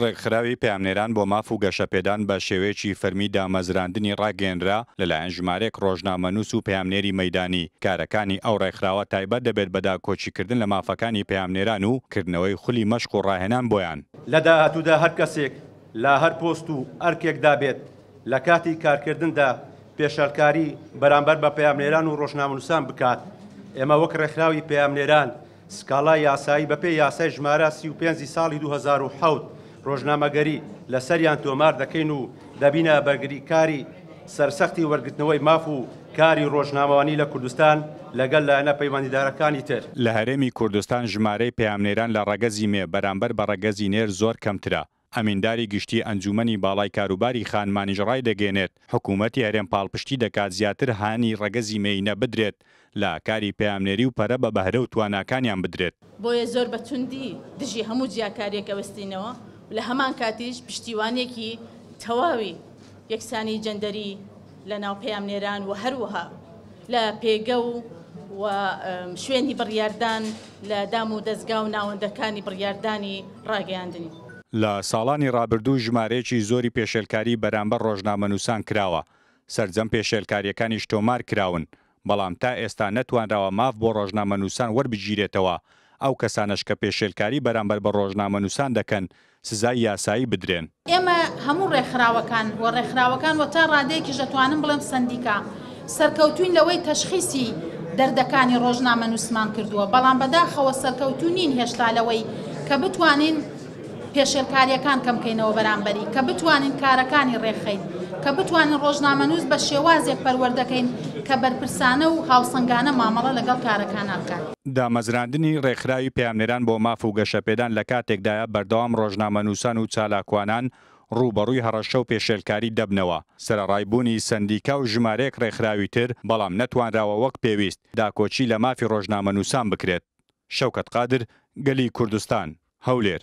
ڕێکخراوی پەیامنێران بۆ ماف و گەشەپێدان بە شێوەیەکی فەرمی دامەزراندنی ڕاگەیەنرا لەلایەن ژمارەیەک ڕۆژنامەنووس و پەیامنێری مەیدانی، کارەکانی ئەو ڕێکخراوە تایبەت دەبێت بە داکۆکیکردن لە مافەکانی پەیامنێران و کردنەوەی خولی مەشق و ڕاهێنان بۆیان. لە داهاتوودا هەر کەسێک لە هەر پۆست و ئەرکێکدا بێت لە کاتی کارکردندا پێشێلکاری بەرامبەر بە پەیامنێران و ڕۆژنامەنووسان بکات، ئێمە وەک ڕێکخراوی پەیامنێران سکاڵای یاسایی بەپێی یاسای ژمارە 35 ی ساڵی 2007 ڕۆژنامەگەری لەسەریان تۆمار دەکەین و دەبینە بەرگریکاری سەرسەختی وەرگرتنەوەی ماف و کاری ڕۆژنامەوانی لە کوردستان لەگەل لایەنە پەیوەندیدارەکانی تر. لە هەرێمی کوردستان ژمارەی پەیامنێران لە ڕەگەزی مێ بەرامبەر بە ڕەگەزی نێر زۆر کەمترە. ئەمینداری گشتی ئەنجوومەنی باڵای کاروباری خانمانیش ڕایدەگەیەنێت، حکوومەتی هەرێم پاڵپشتی دەکات زیاتر هانی ڕەگەزی مێینە بدرێت لە کاری پەیامنێری و پەرە بە بەهرە و تواناکانیان بدرێت. بۆیە زۆر بە توندی دژی هەموو جیاکارییەک ئەوەستینەوە و لە هەمان کاتیش پشتیوانییەکی تەواوی یەکسانی جەندەری لە ناو پەیامنێران و هەروەها لە پێگە و و شوێنی بڕیاردان لە دام و دەزگا و ناوەندەکانی بڕیاردانی ڕاگەیاندنی. لە ساڵانی ڕابردوو ژمارەیەکی زۆری پێشێلکاری بەرامبەر ڕۆژنامەنووسان کراوە، سەرجەم پێشێلکارییەکانیش تۆمار کراون، بەڵام تا ئێستا نەتوانراوە ماف بۆ ڕۆژنامەنووسان وەربگیرێتەوە، ئەو کەسانەش کە پێشێلکاری بەرامبەر بە ڕۆژنامەنووسان دەکەن سزای یاسایی بدرێن. ئێمە هەموو ڕێکخراوەکان و ڕێکخراوەکان و تا ڕادەیەکیش دەتوانم بڵێم سەندیکا سەرکەوتووین لەوەی تەشخیسی دەردەکانی ڕۆژنامەنووسمان کردووە، بەڵام بەداخەوە سەرکەوتوو نین هێشتا لەوەی کە بتوانین پێشێلکارییەکان کەم کەینەوە بەرامبەری، کە بتوانین کارەکانی ڕێکخەین، کە بتوانین ڕۆژنامەنووس بە شێوازێک پەروەردە کەین کە بەرپرسانە و هاوسەنگانە مامەڵە لەگەڵ کارەکانا بکات. دامەزراندنی ڕێکخراوی پەیامنێران بۆ ماف و گەشەپێدان لە کاتێکدایە بەردەوام ڕۆژنامەنووسان و چالاکوانان ڕووبەڕووی هەڕەشە و پێشێلکاری دەبنەوە، سەرەڕای بوونی سەندیکا و ژمارەیەک ڕێکخراوی تر، بەڵام نەتوانراوە وەک پێویست داکۆکی لە مافی ڕۆژنامەنووسان بکرێت. شەوکەت قادر، گەلی کوردستان، هەولێر.